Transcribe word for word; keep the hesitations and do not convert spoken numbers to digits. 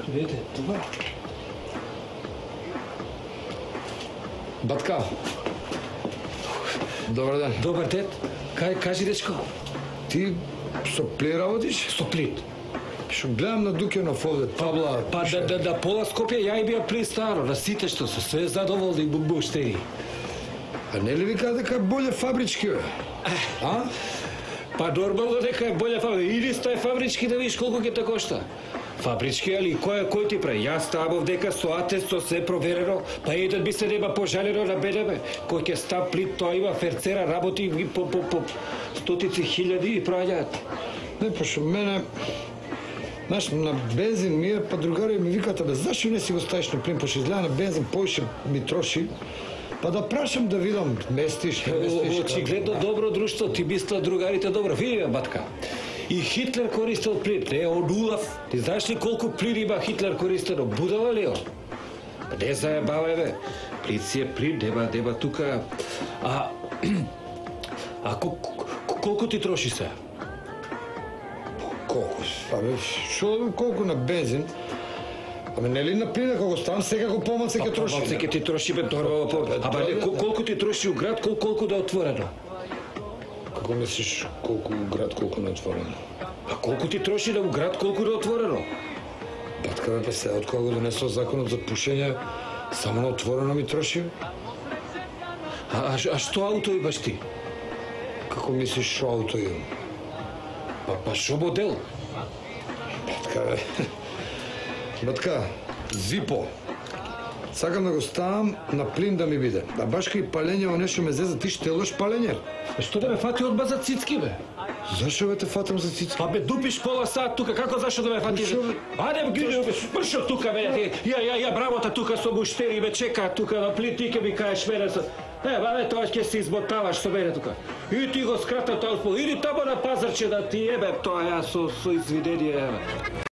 Видите, това. Батка. Добар ден. Добар ден. Кај кажи дечко? Ти со пли работиш? Со плит. Што гледам на Дукенов овде, табла... Па да, да, да пола Скопје ја и бија при старо, на сите што се све задоволни бубуштери. А не ли ви кажа дека боле фабрички, бе? А? Па нормално дека е боле фабрички. Иди стај фабрички да видиш колку ќе те кошта. Фабрички, али кој кој ти прави? Јас ставав дека со атест со се проверено, па еден би се нема пожалено на БДБ. Кој ќе став плит, тоа има ферцера, работи по, по, по стотици хиљади и праќаат. Не, пошто мене... Знаеш, на бензин ми е, па другари ми викате, бе, зашо не си го ставиш на плин, пошто изгледа на бензин поише ми троши, па да прашам да видам, местиш, не местиш... Очигледно добро друштво, ти мисла другарите добро. Види, батка, и Хитлер користел плин, не од улав. Ти знаеш ли колку плин има Хитлер користено? Будала ли он? Не заебавај, бе. Плин си е плин, нема, нема тука... А... А колку ти троши се? Колку? Абе, шо колку на бензин? Аме нели на плин, ако го ставам, сега го помаце ќе троши. Помаце ќе ти троши, бе, нормално помаце. Абе, колку ти троши у град, колку да е отворено? Како мислиш колку у град, колку на отворено? А колку ти троши да у град, колку да е отворено? Батка, бе, па сега, од кога го донесол законот за пушење, само на отворено ми троши? А, а што ауто имаш ти? Како мислиш шо ауто имам? Па, па шо модел? Батка, бе. Батка, Зипо. Сакам да го ставам на плин да ми биде. А баш кај палење, нешто ме зеза, ти штелош палење? Што да ме фати одма за цицки, бе? Зашо бе те фатам за цицки? Па бе, дупиш пола сат тука, како зашо да ме фати? Аде, гиде, бршо тука, бе, ја, ја, ја, брамота тука со буштери, бе, чека тука на плин, ти ке ми кажеш мене со... Е, бе, тоа ќе се измотаваш со мене тука. И ти го скрата тоа спол, иди тамо на пазарче да ти ебе тоа ја со, со извинение, бе.